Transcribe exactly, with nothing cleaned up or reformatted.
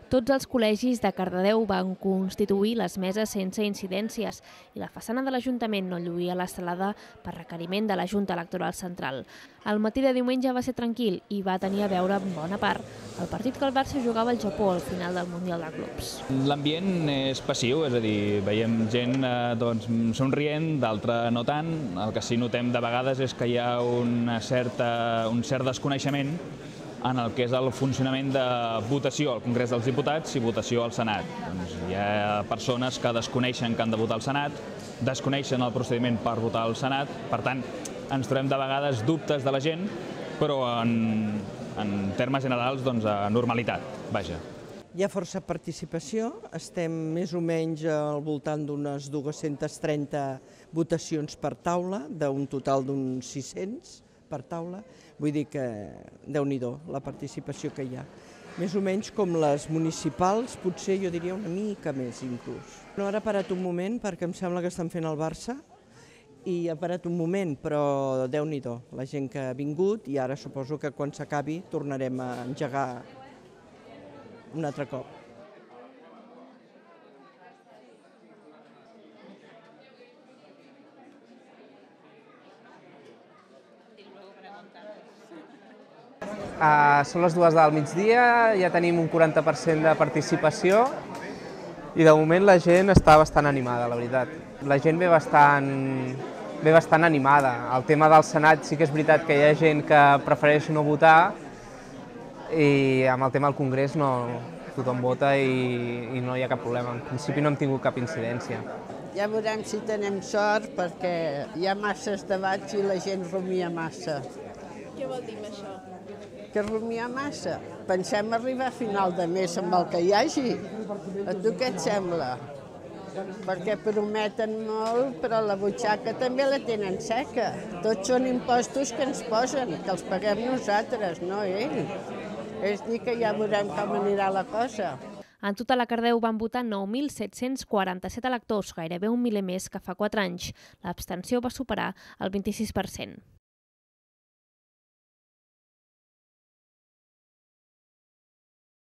Tots els col·legis de Cardedeu van constituir les meses sense incidències i la façana de l'Ajuntament no lluïa l'estelada per requeriment de la Junta Electoral Central. El matí de diumenge va ser tranquil i va tenir a veure en bona part el partit que el Barça jugava al Japó al final del Mundial de Clubs. L'ambient és passiu, és a dir, veiem gent eh, doncs, somrient, d'altra no tant. El que sí notem de vegades és que hi ha una certa, un cert desconeixement en el que és el funcionament de votació al Congrés dels Diputats i votació al Senat. Doncs hi ha persones que desconeixen que han de votar al Senat, desconeixen el procediment per votar al Senat, per tant, ens trobem de vegades dubtes de la gent, però en, en termes generals, doncs, a normalitat, vaja. Hi ha força participació, estem més o menys al voltant d'unes dues-centes trenta votacions per taula, d'un total d'uns sis-cents per taula, vull dir que déu-n'hi-do la participació que hi ha. Més o menys com les municipals, potser jo diria una mica més inclús. No, ara ha parat un moment perquè em sembla que estan fent el Barça i ha parat un moment, però déu-n'hi-do la gent que ha vingut i ara suposo que quan s'acabi tornarem a engegar un altre cop. Uh, són les dues del migdia, ja tenim un quaranta per cent de participació i de moment la gent està bastant animada, la veritat. La gent ve bastant, ve bastant animada. El tema del Senat sí que és veritat que hi ha gent que prefereix no votar i amb el tema del Congrés no, tothom vota i, i no hi ha cap problema. En principi no hem tingut cap incidència. Ja veurem si tenem sort perquè hi ha masses debats i la gent rumia massa. Què vol dir això? Que rumia massa. Pensem arribar a final de mes amb el que hi hagi. A tu què et sembla? Perquè prometen molt, però la butxaca també la tenen seca. Tots són impostos que ens posen, que els paguem nosaltres, no ells. És dir que ja veurem com anirà la cosa. En total a Cardedeu van votar nou mil set-cents quaranta-set electors, gairebé un miler més que fa quatre anys. L'abstenció va superar el vint-i-sis per cent.